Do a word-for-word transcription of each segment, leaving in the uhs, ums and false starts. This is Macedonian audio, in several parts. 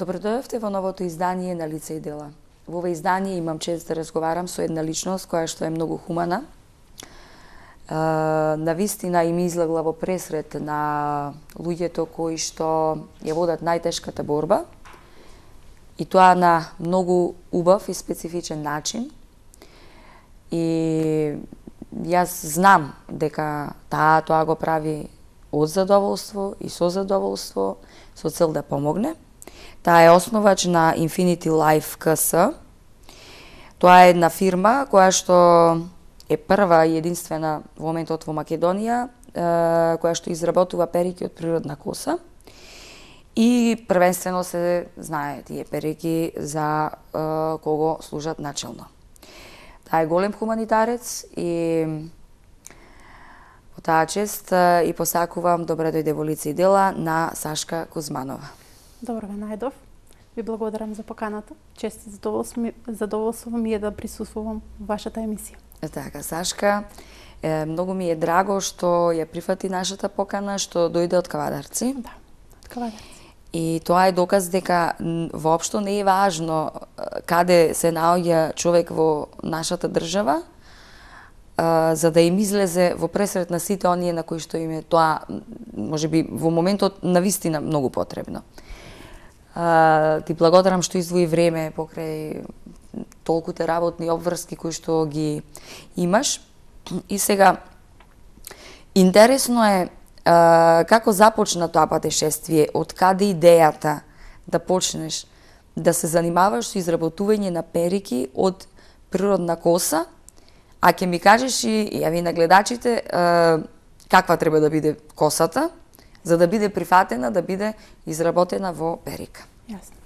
Добродојавте во новото издание на Лица и дела. Во ова издание имам чест да разговарам со една личност која што е многу хумана. На вистина им излегла во пресрет на луѓето кои што ја водат најтешката борба, и тоа на многу убав и специфичен начин. И јас знам дека таа тоа го прави од задоволство и со задоволство, со цел да помогне. Таа е основач на Infinity Life К С. Тоа е една фирма која што е прва и единствена во моментот во Македонија, која што изработува перики од природна коса. И првенствено се знае тие перики за кого служат начелно. Таа е голем хуманитарец и по таа чест и посакувам добре дојде во Лица и дела на Сашка Кузманова. Добро ве најдов. Ви благодарам за поканата. Чест и задоволство ми, задоволство ми е да присуствувам во вашата емисија. Така, Сашка, е, многу ми е драго што ја прифати нашата покана, што дојде од Кавадарци. Да, од Кавадарци. И тоа е доказ дека воопшто не е важно каде се наоѓа човек во нашата држава, а, за да им излезе во пресрет на сите оние на кои што им е тоа, можеби во моментот навистина многу потребно. Uh, ти благодарам што издвои време покрај толку те работни обврски кои што ги имаш. И сега, интересно е uh, како започна тоа патешествие, од каде идејата да почнеш да се занимаваш со изработување на перики од природна коса, а ќе ми кажеш и јави на гледачите uh, каква треба да биде косата, за да биде прифатена, да биде изработена во перика. Јасно.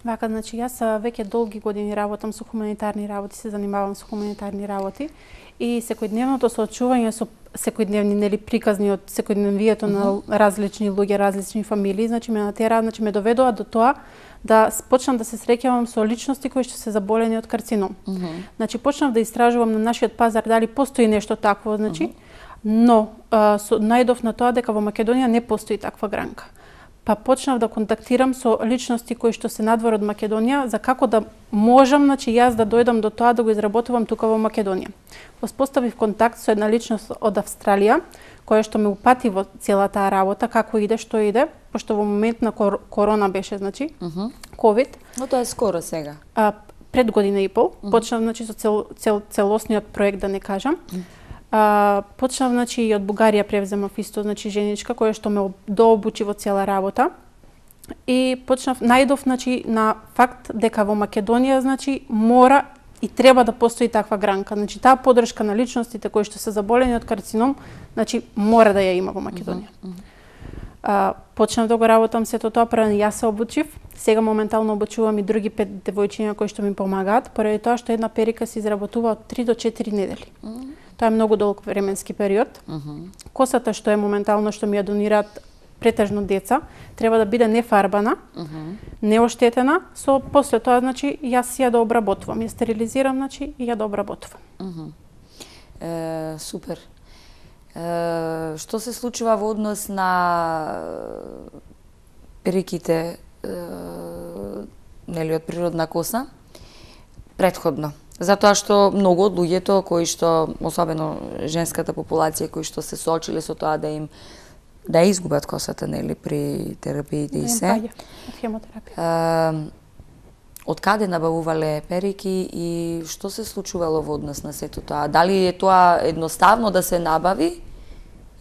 Вака, значи, јас веќе долги години работам со хуманитарни работи, се занимавам со хуманитарни работи и секојдневното соочување со секојдневни нели приказни од секојдневието uh -huh. на различни луѓе, различни фамилии, значи ме натера, значи ме доведува до тоа да почнам да се среќавам со личности кои што се заболени од карцином. Uh -huh. Значи почнав да истражувам на нашиот пазар дали постои нешто такво, значи, uh -huh. но а, со, најдов на тоа дека во Македонија не постои таква гранка. Па почнав да контактирам со личности кои што се надвор од Македонија за како да можам, значи јас да дојдам до тоа да го изработувам тука во Македонија. Воспоставив контакт со една личност од Австралија која што ме упати во цела таа работа, како иде, што иде, пошто во момент на кор корона беше, значи, uh -huh. ковид. Но тоа е скоро сега. А, пред година и пол, uh -huh. почнав, значи, со цел, цел, целосниот проект, да не кажам. Uh -huh. А, почнав, значи, и од Бугарија превземав исто, значи, женичка која што ме дообучи во цела работа. И почнав, најдов, значи, на факт дека во Македонија, значи, мора и треба да постои таква гранка. Значи, таа подршка на личностите кои што се заболени од карцином, значи, мора да ја има во Македонија. Uh -huh. А, почнав да го работам сето тоа, прво јас се обучив, сега моментално обучувам и други пет девојчиња кои што ми помагаат, поради тоа што една перика се изработува од три до четири недели. Uh -huh. Тоа е многу долг временски период. Uh -huh. Косата што е моментално што ми ја донираат претежно деца, треба да биде нефарбана, uh -huh. неоштетена, со после тоа, значи, јас ја да обработувам, ја стерилизирам, значи, и ја да обработувам. Uh -huh. е, супер. Е, што се случува во однос на периките е, нели од природна коса претходно? Затоа што многу од луѓето кои што, особено женската популација, кои што се соочиле со тоа да им да изгубат косата, нели, при терапиите и се. Од хемотерапија. Од каде набавувале перики и што се случувало во однос на сето тоа? Дали е тоа едноставно да се набави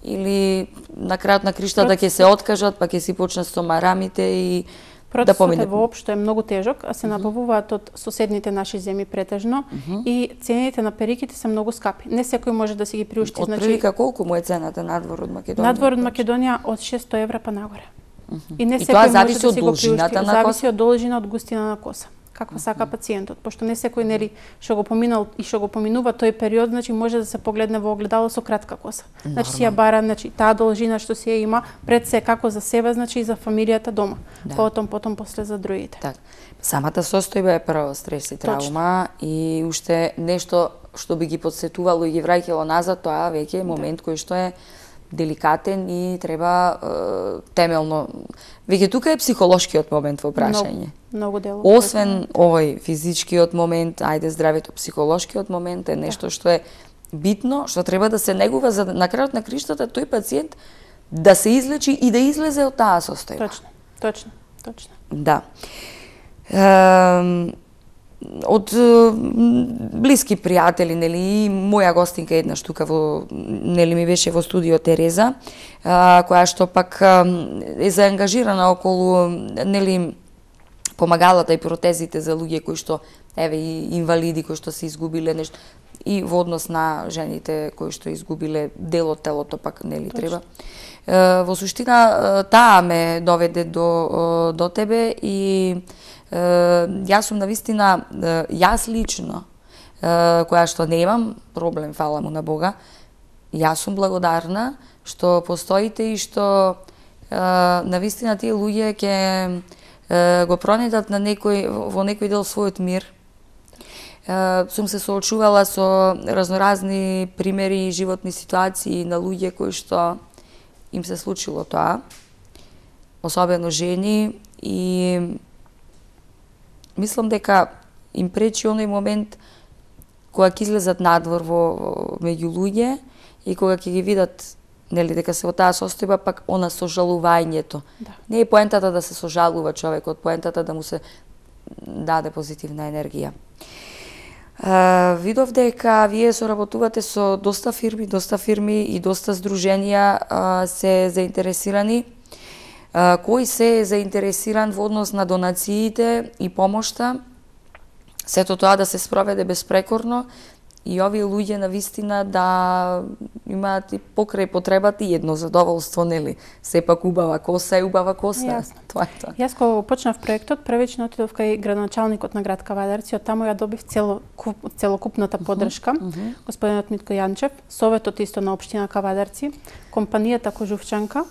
или на крајот на криштата ќе се откажат, па ќе си почнат со марамите и процесот да помине? Процесот воопшто е многу тежок, а се набавуваат од соседните наши земји претежно uh -huh. и цените на периките се многу скапи. Не секој може да си ги приушти. Од прилика колку му е цената надвор од Македонија? Надвор од Македонија од шестстотини евра па нагоре. Uh -huh. И не и секој тоа може зависи да од си го приушти. должината на коса? Зависи од должина, од густина на коса. каква сака пациентот, пошто не секој нели што го поминал и што го поминува тој период, значи може да се погледне во огледало со кратка коса. Значи си ја бара, значи таа должина што си ја има пред се како за себе, значи и за фамилијата дома. Да. Потом потом после за другите. Так. Самата состојба е прво стрес и травма. Точно. И уште нешто што би ги подсетувало и ги враќало назад, тоа веќе е момент да. Кој што е деликатен и треба е, темелно. Веќе тука е психолошкиот момент во прашање. Многу, многу дело. Освен овој физичкиот момент, ајде здравето, психолошкиот момент е нешто да. Што е битно, што треба да се негува за на крајот на криштата тој пациент да се излечи и да излезе од таа состојба. Точно, точно, точно. Да. Е, од блиски пријатели, нели, и моја гостинка еднаш тука во, нели, ми беше во студио Тереза, а, која што пак а, е заангажирана околу, нели, помагалата и протезите за луѓе кои што, еве, и инвалиди кои што се изгубиле нешто, и во однос на жените кои што изгубиле дел од телото, пак, нели, Точно. Треба. Е, во суштина, таа ме доведе до, до тебе и јас сум навистина, јас лично, која што немам проблем, фала му на Бога, јас сум благодарна што постоите и што навистина тие луѓе ќе го пронедат на некој, во некој дел својот мир. Сум се соочувала со разноразни примери и животни ситуации на луѓе кои што им се случило тоа, особено жени, и мислам дека им пречи оној момент кога ќе излезат надвор во, во меѓу луѓе и кога ќе ги видат, нели, дека се во таа состојба, пак она сожалувањето. Да. Не е поентата да се сожалува човекот, поентата да му се даде позитивна енергија. Uh, видов дека вие соработувате со доста фирми, доста фирми и доста здруженија uh, се заинтересирани. Uh, кој се е заинтересиран во однос на донациите и помошта, сето тоа да се спроведе безпрекорно и овие луѓе на вистина да имаат и покрај потребата и едно задоволство, нели? Сепак убава коса е убава коса. Јасно. Тоа е тоа. Јас кога почнав проектот, првично отидов кај градоначалникот на град Кавадарци, од таму ја добив цело, целокупната поддршка, uh -huh. Uh -huh. господинот Митко Јанчев, советот исто на општина Кавадарци, компанијата Кожувчанка.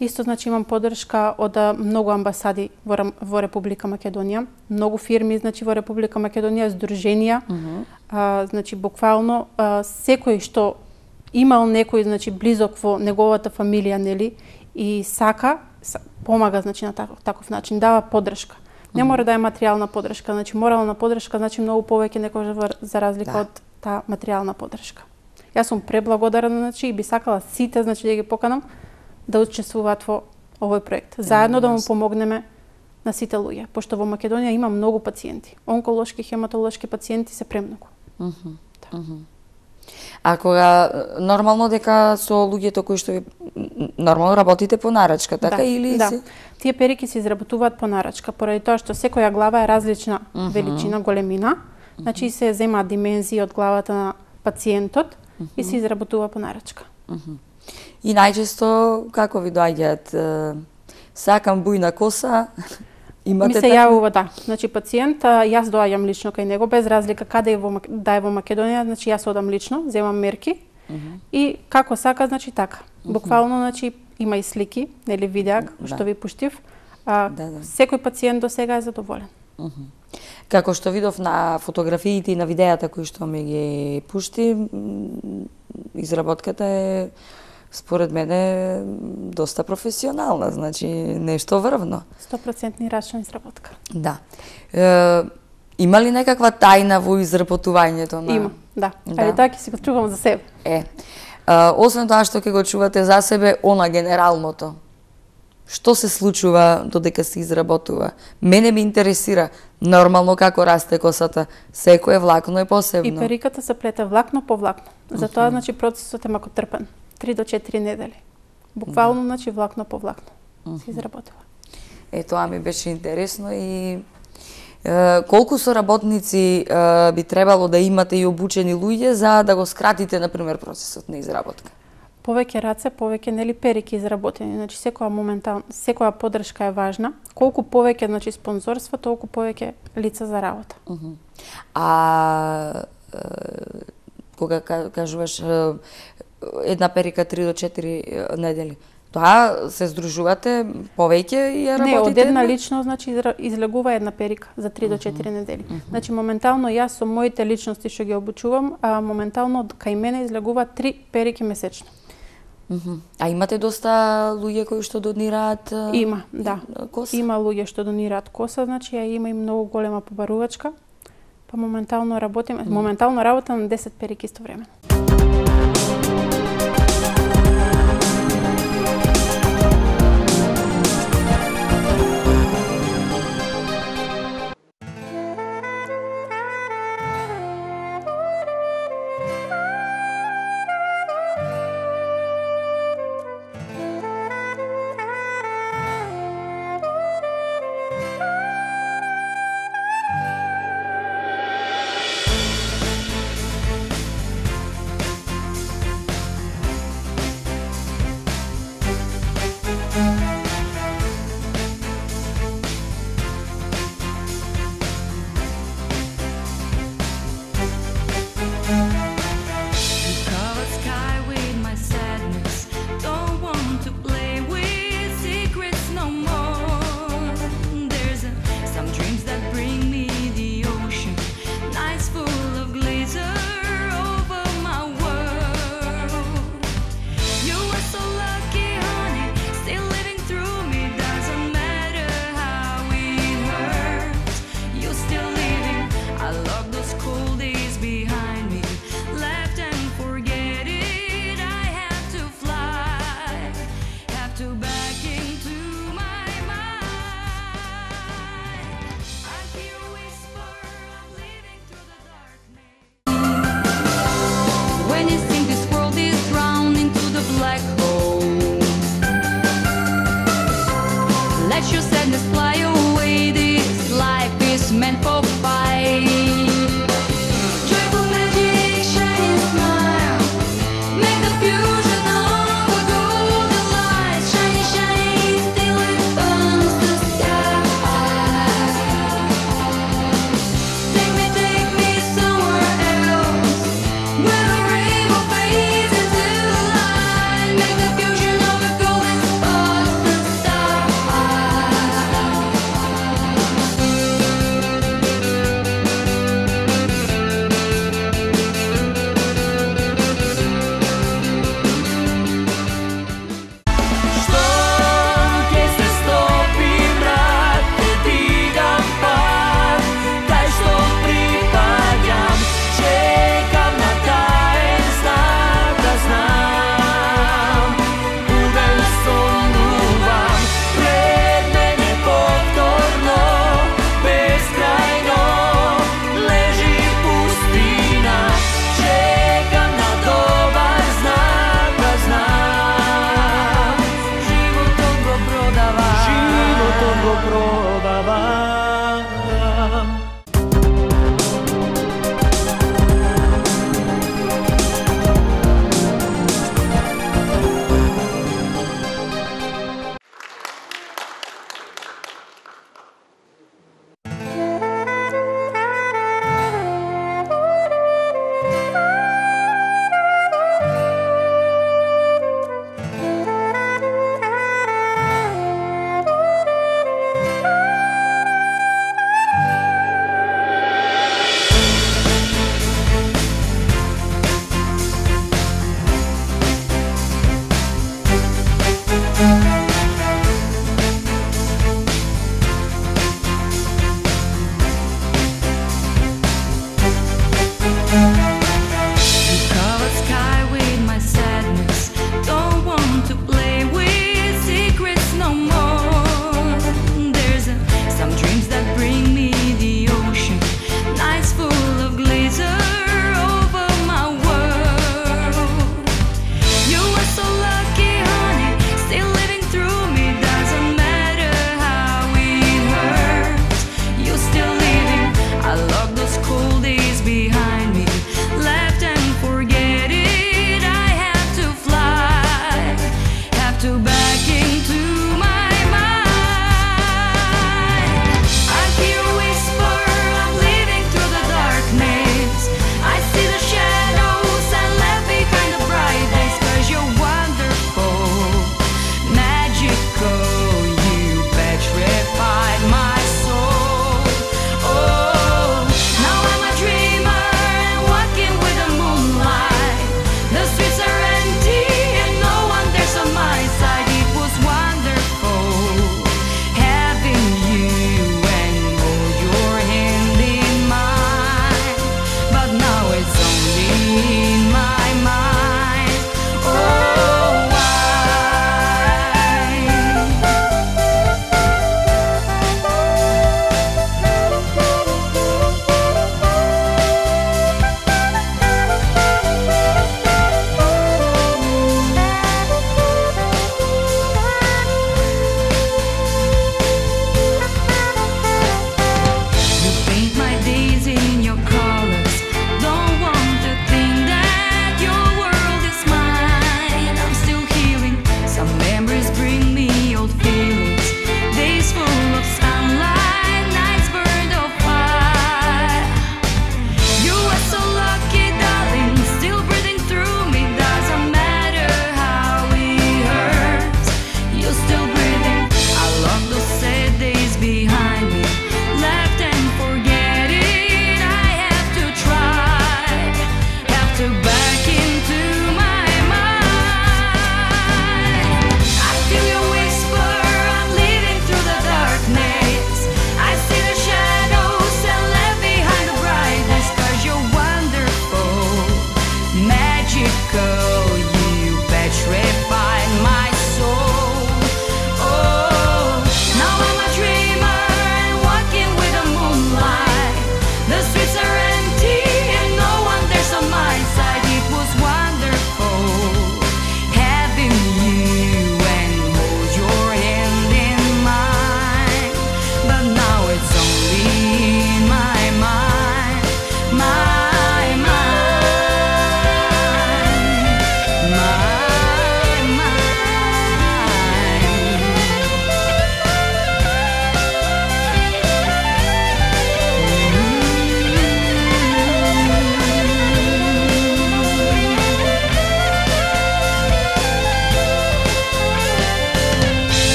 Исто, значи, имам поддршка од многу амбасади во, во Република Македонија, многу фирми, значи, во Република Македонија, здруженија, uh -huh. а, значи, буквално, а, секој што имал некој, значи, близок во неговата фамилија, нели, и сака, помага, значи, на таков, таков начин, дава поддршка. Не мора да е материјална поддршка, значи, морална поддршка, значи, многу повеќе некогаш за разлика да. Од таа материјална поддршка. Јас сум преблагодарна, значи, и би сакала сите, значи, да ги поканам, да учествуваат во овој проект. Заедно да му помогнеме на сите луѓе, пошто во Македонија има многу пациенти. Онколошки, хематолошки пациенти се премногу. Uh -huh. Да. Uh -huh. А кога нормално дека со луѓето кои што нормално работите по нарачка, така да, или да. си? Tие перики се изработуваат по нарачка, поради тоа што секоја глава е различна uh -huh. величина, големина. Uh -huh. Значи се земаат димензии од главата на пациентот uh -huh. и се изработува по нарачка. Uh -huh. И најчесто како ви доаѓаат, сакам бујна коса, имате ми се така? јавува, да. Значи пациент, јас доаѓам лично кај него без разлика каде е во да е во Македонија, значи јас одам лично, земам мерки uh -huh. и како сака, значи така. Буквално, значи има и слики, нели видеа што да. Ви пуштив. А, да, да. Секој пациент до сега е задоволен. Uh -huh. Како што видов на фотографиите и на видеата кои што ми ги пушти, изработката е според мене доста професионална, значи нешто врвно. сто проценти рачна изработка. Да. Е, има ли некаква тајна во изработувањето на? Има, да. да. Али тоа ќе си го чувам за себе. Е. А, освен тоа што ќе го чувате за себе, она генералното. Што се случува додека се изработува? Мене ме интересира нормално како расте косата. Секое влакно е посебно. И периката се плете влакно по влакно. Затоа, значи, процесот е макотрпен. три до четири недели. Буквално, да. Значи, влакно по влакно се изработува. Е, тоа ми беше интересно и е, колку соработници е, би требало да имате и обучени луѓе за да го скратите, например, процесот на изработка? повеќе раце, повеќе нели перики изработени. Значи секоја моментално, секоја поддршка е важна. Колку повеќе значи спонзорства, толку повеќе лица за работа. Uh -huh. А кога кажуваш една перика три до четири недели, тоа се здружувате повеќе и ја работите? Не, од една лично значи излегува една перика за три до четири недели. Uh -huh. Значи моментално јас со моите личности што ги обучувам, а моментално кај мене излегува три перики месечно. Uh -huh. А имате доста луѓе кои што донираат? Има, да. Коса? Има луѓе што донираат коса, значи ја има и многу голема побарувачка. Па моментално работим, uh -huh. моментално работам на десет перики истовремено.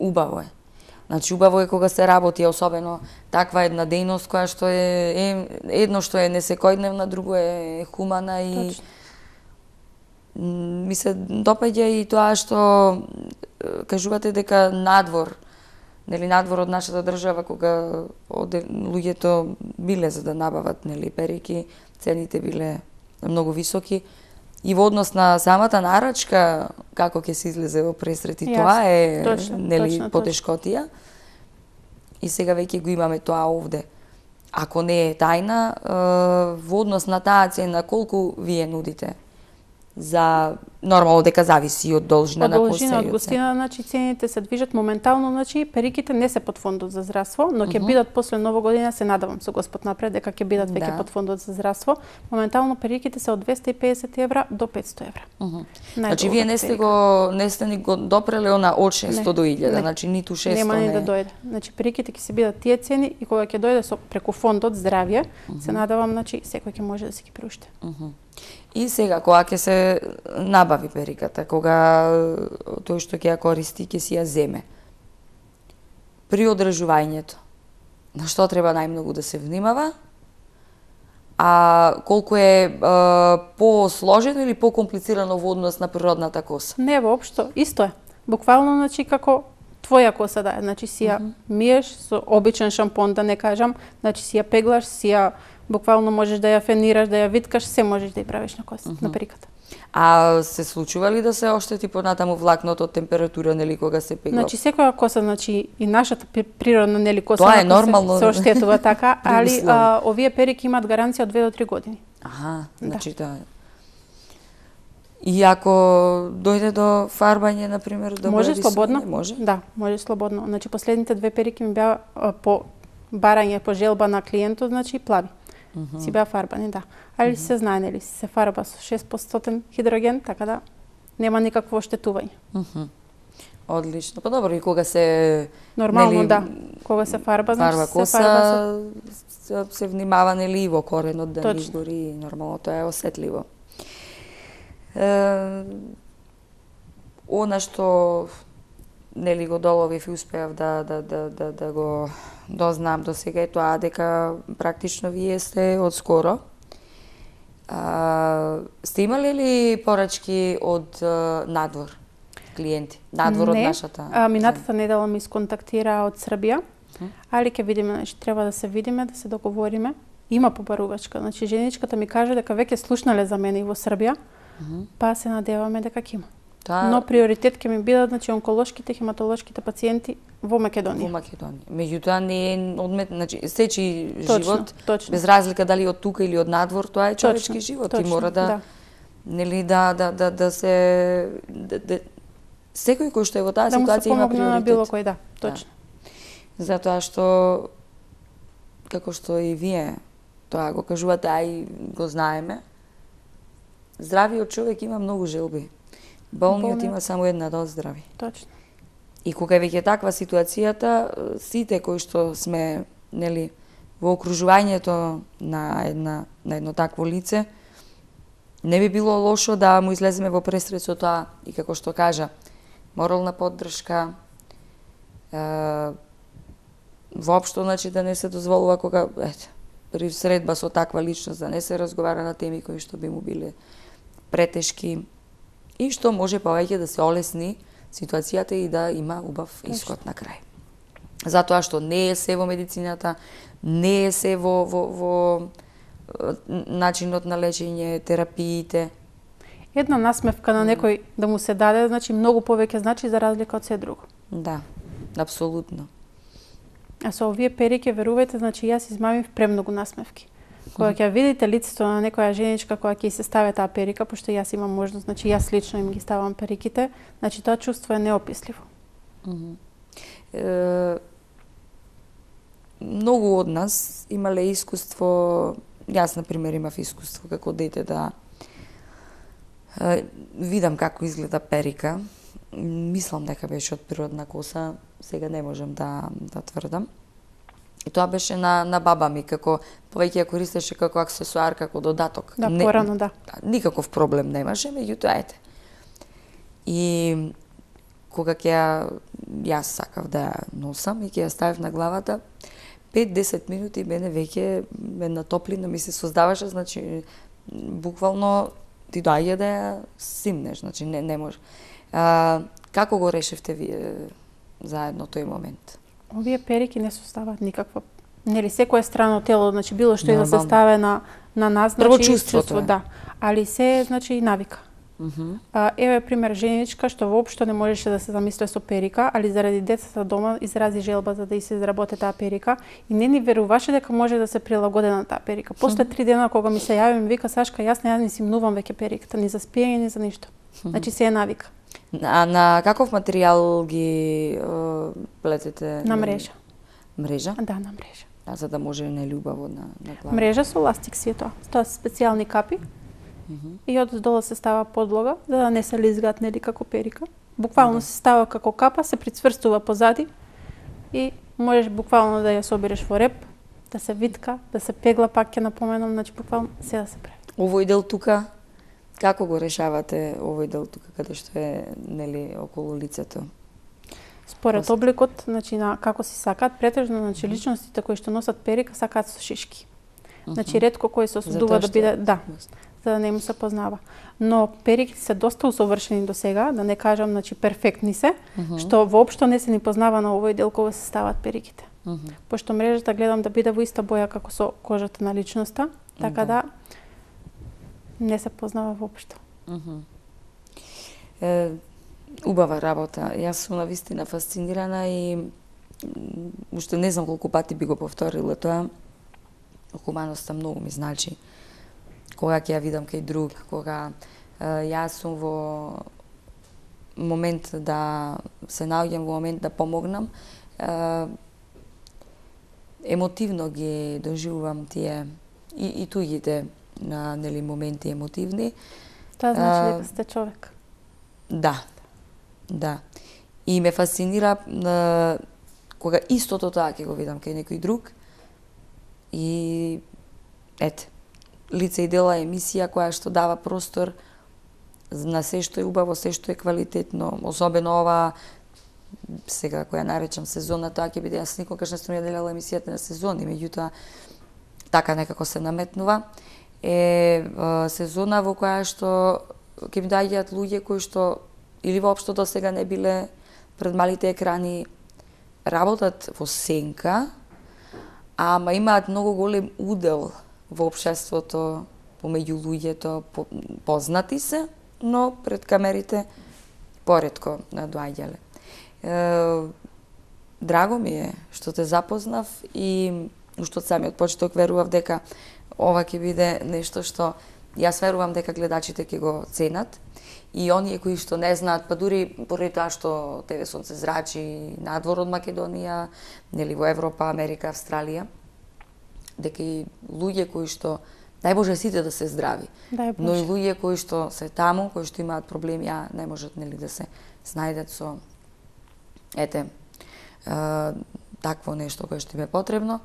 убаво е. Значи, убаво е кога се работи, особено таква една дејност која што е, е едно што е несекојдневна, друго е хумана и Точно. ми се допаѓа и тоа што кажувате дека надвор, нели надвор од нашата држава кога оде луѓето биле за да набават нели перики, цените биле многу високи и во однос на самата нарачка како ќе се излезе во пресрет и тоа е точно, нели точно, потешкотија. И сега веќе го имаме тоа овде. Ако не е тајна, во однос на таа цена колку вие нудите? За нормално дека зависи од должина од на коса должина, од и од се. гостина, значи цените се движат моментално, значи периките не се под фондот за здравство, но ќе Мгм. бидат после Нова година, се надавам со Господ напред дека ќе бидат веќе Да. под фондот за здравство. Моментално периките се од двесте и педесет евра до петсто евра. Мгм. Значи Најдолгата вие не сте перика. го не сте ни го допреле она од шесто Не, до илјада, не. значи ниту шесто Нема ни не. да дојде. Значи периките ќе се бидат тие цени и кога ќе дојде со преку фондот здравје, се надавам, значи секој ќе може да си ги приушти. Мгм. И сега кога ќе се набави периката, кога тој што ќе ја користи ќе си ја земе. При одржувањето, на што треба најмногу да се внимава? А колку е, е посложено или покомплицирано во однос на природната коса? Не, воопшто, исто е. Буквално, значи, како твоја коса да е. Значи, си ја миеш со обичен шампон, да не кажам, значи си ја пеглаш, си ја буквално можеш да ја фенираш, да ја виткаш, се можеш да ја правиш на коса, на периката. А се случува ли да се оштети понатаму влакното од температура, нели, кога се пегла? Значи секоја коса, значи и нашата при- природна нели коса Тоа е ако се- нормално. се оштетува така, При али услови. а, овие перики имаат гаранција од две до три години. Аха, Да. значи да. И ако дојде до фарбање, на пример, да Може бъде слободно? рисување, може? Да, може слободно. Значи последните две перики ми беа а, по барање, по желба на клиентот, значи плави. Си беа фарбани, да. Али се знае, нели, се фарба со шест проценти хидроген, така да нема никакво оштетување. Мгм. Одлично. Па добро, и кога се Нормално, нели, да. Кога се фарба, значи фарба се коса, фарба со... се, се внимава, нели, и во коренот да не Точно. изгори, и нормално тоа е осетливо. Е, она што нели го доловив и успеав да, да, да, да, да го дознам до сега е тоа дека практично вие сте од скоро. А, сте имали ли порачки од а, надвор клиенти? Надвор од Не. нашата? А, минатата недела ми сконтактира од Србија, али ќе видиме, значи треба да се видиме, да се договориме. Има побарувачка, значи женичката ми каже дека веќе слушнале за мене и во Србија, па се надеваме дека ќе има. Тоа Но приоритет ќе ми бидат, значи, онколошките, хематолошките пациенти во Македонија. во Македонија. Меѓутоа не е одмет, значи сечи Точно, живот, точно. без разлика дали од тука или од надвор, тоа е човечки Точно, живот точно, и мора да, да. нели да да да да се да, да, секој кој што е во таа Да му се ситуација има помогне на било приоритет. кој, да, точно. Затоа што како што и вие тоа го кажувате, а и го знаеме, здравиот човек има многу желби. Болниот Болниот. има само една да оздрави. Точно. И кога е веќе таква ситуацијата, сите кои што сме, нели, во окружувањето на една на едно такво лице, не би било лошо да му излеземе во пресрет со тоа и како што кажа, морална поддршка, е, воопшто, значи, да не се дозволува кога, ете, при средба со таква личност да не се разговара на теми кои што би му биле претешки и што може повеќе да се олесни ситуацијата и да има убав исход на крај. Затоа што не е се во медицината, не е се во, во, во е, начинот на лечење, терапиите. Една насмевка на некој да му се даде, значи многу повеќе значи за разлика од се друго. Да, апсолутно. А со овие перики, верувајте, значи јас измамив премногу насмевки. Кога ќе видите лицето на некоја женичка која ќе се стави таа перика, пошто јас имам можност, значи јас лично им ги ставам периките, значи тоа чувство е неописливо. Е, многу од нас имале искуство, јас на пример имав искуство како дете да е, видам како изгледа перика. Мислам дека беше од природна коса, сега не можам да да тврдам. И тоа беше на на баба ми, како повеќе ја користеше како аксесуар, како додаток. Да, Не- порано, да. Никаков проблем немаше, меѓутоа ете. И кога ќе ја јас сакав да ја носам и ќе ја ставив на главата, пет до десет минути мене веќе една топлина ми се создаваше, значи буквално ти доаѓа да ја симнеш, значи не не може. А, како го решивте вие заедно тој момент? Овие перики не создаваат никаква, нели секоја страна од тело, значи било што и да се ставе на на нас, значи прво чувство, да, али се значи навика. Uh -huh. А, еве пример женичка што воопшто не можеше да се замисли со перика, али заради децата дома изрази желба за да и се изработи таа перика и не ни веруваше дека може да се прилагоди на таа перика. После три дена кога ми се јави ми вика Сашка, јас не ја не симнувам веќе периката, ни за спиење, ни за ништо. Значи се е навика. А на каков материјал ги е, плетете? На мрежа. Мрежа? Да, на мрежа. А за да може нелюбаво на на глава. Мрежа со ластик си е тоа. Тоа се специјални капи. Uh -huh. И од долу се става подлога, за да не се лизгаат нели како перика. Буквално се става како капа, се прицврстува позади и можеш буквално да ја собереш во реп, да се витка, да се пегла, пак ќе напоменам, значи буквално се да се прави. Овој дел тука, како го решавате овој дел тука каде што е нели околу лицето? Според Просто. обликот, значи на како си сакаат, претежно значи личностите кои што носат перика сакаат со шишки. Значи ретко кој се осудува да биде, да, за да не му се познава. Но периките се доста усовршени до сега, да не кажам, значи перфектни се, uh -huh. што воопшто не се ни познава на овој дел кога се стават периките. Uh -huh. Пошто мрежата гледам да биде во иста боја како со кожата на личноста, така да, да не се познава воопшто. Uh -huh. Е, убава работа. Јас сум навистина фасцинирана и уште не знам колку пати би го повторила тоа. Хуманоста многу ми значи. Кога ќе ја видам кај друг, кога е, јас сум во момент да се наоѓам во момент да помогнам, е, емотивно ги доживувам тие и, и туѓите на нели моменти емотивни. Тоа значи дека сте човек. Да. Да. И ме фасцинира е, кога истото тоа ќе го видам кај некој друг. И ете, лице и дела емисија која што дава простор на се што е убаво, се што е квалитетно, особено ова сега која наречам сезона, тоа ќе биде, јас никогаш не сум ја делела емисијата на сезони, меѓутоа така некако се наметнува, е сезона во која што ќе ми доаѓаат луѓе кои што или воопшто до сега не биле пред малите екрани, работат во сенка, ама имаат многу голем удел во општеството, помеѓу луѓето, познати се, но пред камерите поретко доаѓале. Драго ми е што те запознав и уште од самиот почеток верував дека ова ќе биде нешто што јас верувам дека гледачите ќе го ценат и оние кои што не знаат, па дури поради тоа што ТВ Сонце зрачи надвор од Македонија, нели во Европа, Америка, Австралија, дека и луѓе кои што, дај Боже сите да се здрави, но и луѓе кои што се таму, кои што имаат проблеми, а не можат нели да се снајдат со ете е, такво нешто кое што им е потребно,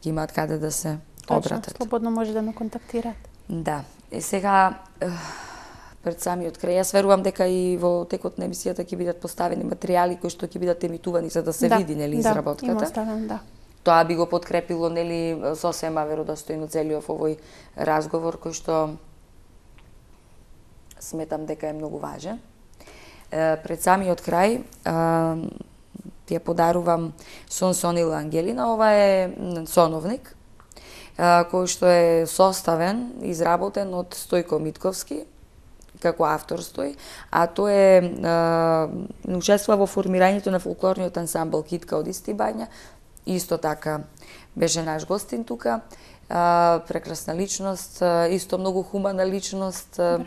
ќе имаат каде да се обратат. Точно, слободно може да ме контактираат. Да. И сега е, пред самиот крај, јас верувам дека и во текот на емисијата ќе бидат поставени материјали кои што ќе бидат емитувани за да се да, види нели да, изработката. Има оставен, да. Тоа би го подкрепило нели сосема веродостојно целиот овој разговор кој што сметам дека е многу важен. Е, пред самиот крај е, ти ја подарувам Сон Сонила Ангелина. Ова е соновник е, кој што е составен, изработен од Стојко Митковски како автор стои, а тој е, е учествува во формирањето на фолклорниот ансамбл Китка од Исти Бања. Исто така беше наш гостин тука, а, прекрасна личност, а, исто многу хумана личност. А,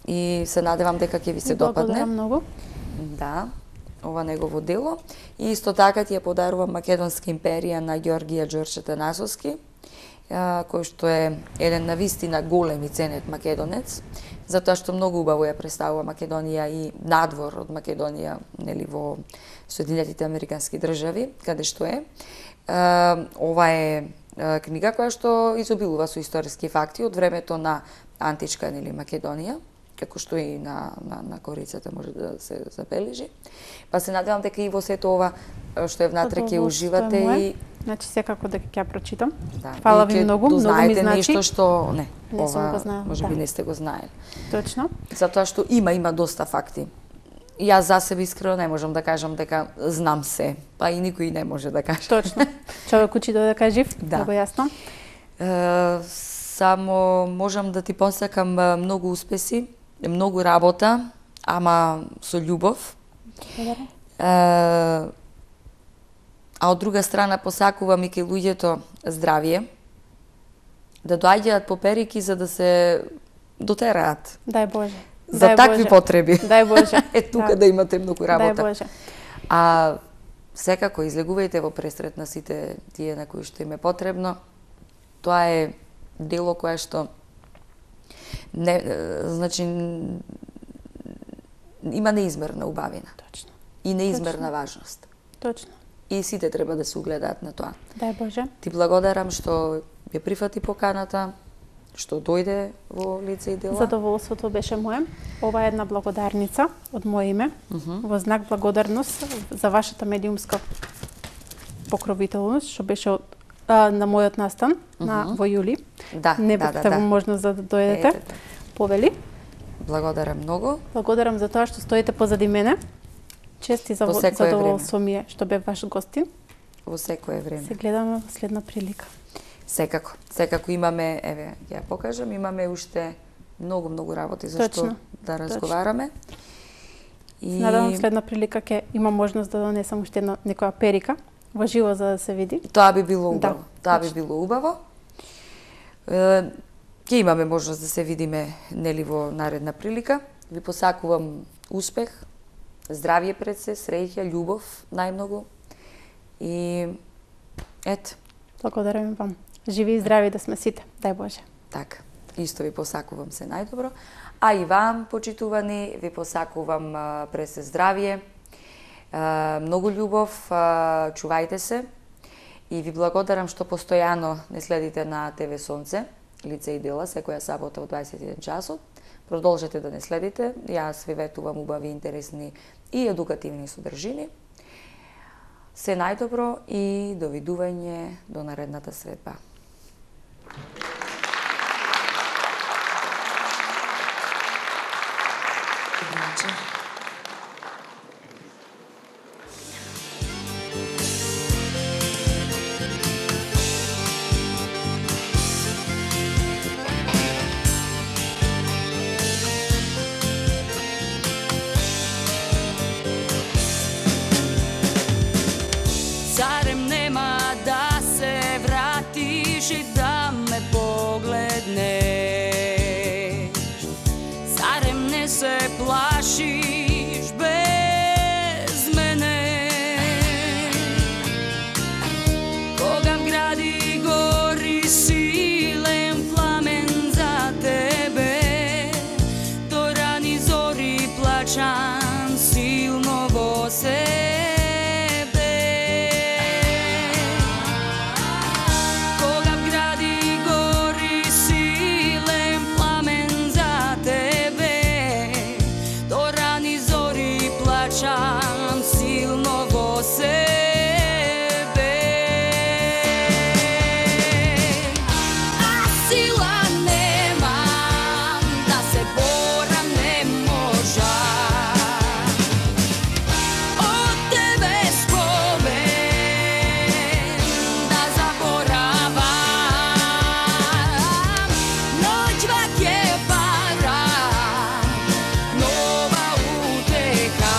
и се надевам дека ќе ви се допадне. Благодарам многу. Да, ова негово дело. И исто така ти ја подарувам Македонска империја на Ѓоргија Ѓорче Танасовски, а, кој што е еден навистина голем и ценет македонец, затоа што многу убаво ја представува Македонија и надвор од Македонија, нели во Соединетите Американски држави, каде што е. Ова е книга која што изобилува со историски факти од времето на античка нели Македонија како што и на, на, на корицата може да се забележи. Па се надевам дека и во сето ова што е внатре ќе уживате и... Значи секако дека ќе ја прочитам. Да, Фала ви многу, многу ми значи. Нешто што не, не ова, сум го знаела, може да. би не сте го знаели. Точно. Затоа што има, има доста факти. И јас за себе искрено не можам да кажам дека знам се, па и никој не може да каже. Точно. Човек учи додека жив, да. Много јасно. Е, само можам да ти посакам многу успеси, многу работа, ама со љубов. Е, а од друга страна посакувам и кај луѓето здравје, да доаѓаат по перики за да се дотераат. Дај Боже. За Дај такви Боже. потреби. Дај Боже. Е тука да. да имате многу работа. Дај Боже. А секако излегувајте во пресрет на сите тие на кои што им е потребно. Тоа е дело кое што не, значи има неизмерна убавина. Точно. И неизмерна Точно. важност. Точно. И сите треба да се угледаат на тоа. Дај Боже. Ти благодарам што ја прифати поканата, што дојде во лице и дела. Задоволството беше мое. Ова е една благодарница од мое име, uh -huh. во знак благодарност за вашата медиумска покровителност, што беше од, а, на мојот настан uh -huh. на, во јули. Да, Не да, бевте да, во да. можност да дојдете. Ете. Повели. Благодарам многу. Благодарам за тоа што стоите позади мене. Чест и за задоволство ми е што бев ваш гостин. Во секое време. Се гледаме во следна прилика. Секако. Секако имаме, еве, ја покажам, имаме уште многу, многу работи за што да разговараме. И... Надам следна прилика ќе има можност да донесам уште една некоја перика во живо за да се види. Тоа би било убаво. Да, Тоа би било убаво. Е, ќе имаме можност да се видиме нели во наредна прилика. Ви посакувам успех, здравје пред се, среќа, љубов најмногу. И ето. Благодарам вам. Живи и здрави да сме сите. Дај Боже. Така. Исто ви посакувам се најдобро. А и вам, почитувани, ви посакувам а, пред се здравје, а, многу љубов, а, чувајте се и ви благодарам што постојано не следите на ТВ Сонце, лице и дела, секоја сабота во дваесет и еден часот. Продолжете да не следите. Јас ви ветувам убави, интересни и едукативни содржини. Се најдобро и довидување до наредната средба. Зарем нема да се вратиш и да ме погледнеш? Зарем не се плашиш без мене? Кога в гради гори силен пламен за тебе, до рани зори плачам силно во себе. Плачам силно во себе. А сила немам да се борам, не можам. Од тебе спомен да заборавам. Ноќва ќе пара, нова утеха.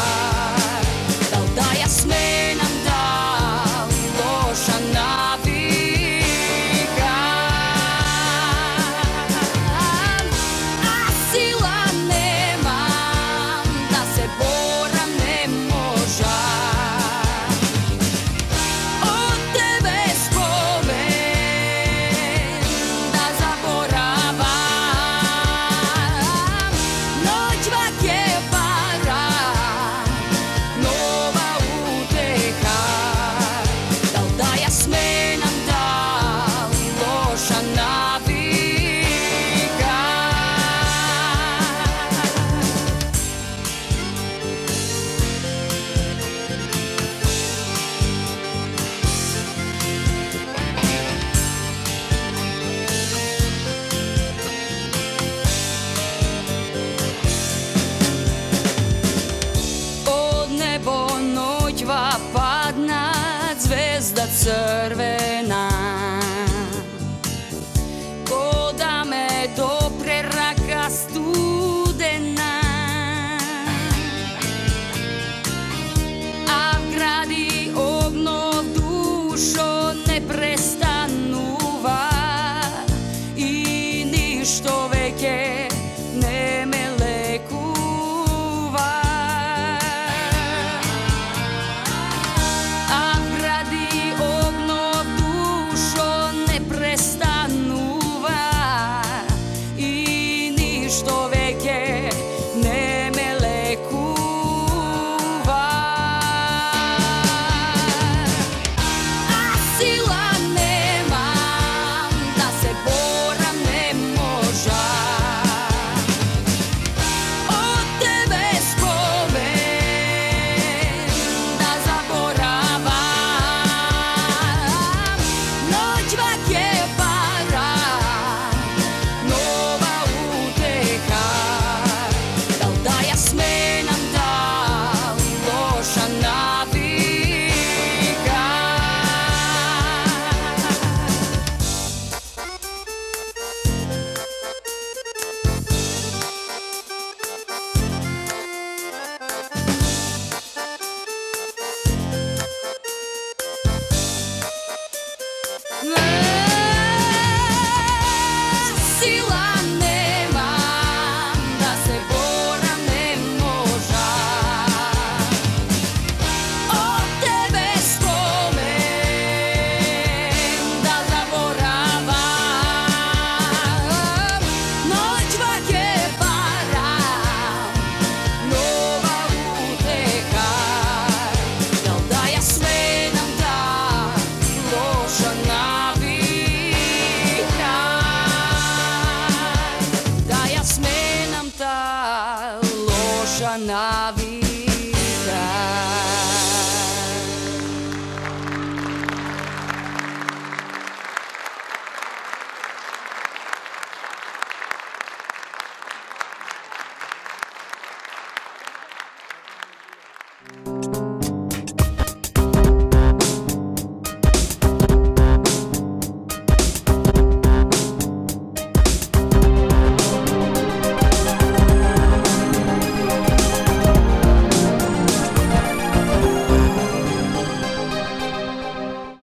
црвена. Ко да ме допре рака студена, а вгради огнов душо не престанува и ништо веќе не ме лекува. А вгради огнов душо не престанува и ништо веќе не ме лекува. А сила немам да се борам, не можа. Од тебе спомен да заборавам. Ноќва ќе пара нова утеха. Дал да ја сменам, дал лоша навика. Сила немам да се борам, не можа. Од тебе спомен да заборавам. Ноќва ќе барам нова утеха. Дал да ја сменам, да лоша навика. Да ја сменам та лоша навика.